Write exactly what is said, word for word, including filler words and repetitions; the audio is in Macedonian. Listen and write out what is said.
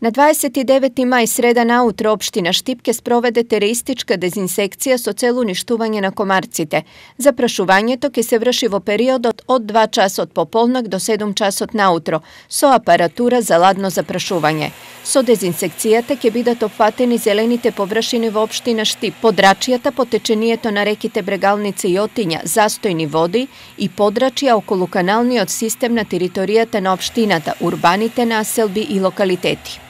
На дваесет и девети мај среда наутро општина Штип ке спроведе тереистичка дезинсекција со цел уништување на комарците. Запрашувањето ке се врши во периодот од два часот пополнок до седум часот наутро со апаратура за ладно запрашување. Со дезинсекцијата ке бидат опфатени зелените површини во општина Штип, подрачјата по течението на реките Брегалница и Отиња, застојни води и подрачја околу каналниот систем на територијата на општината, урбаните населби и локалитети.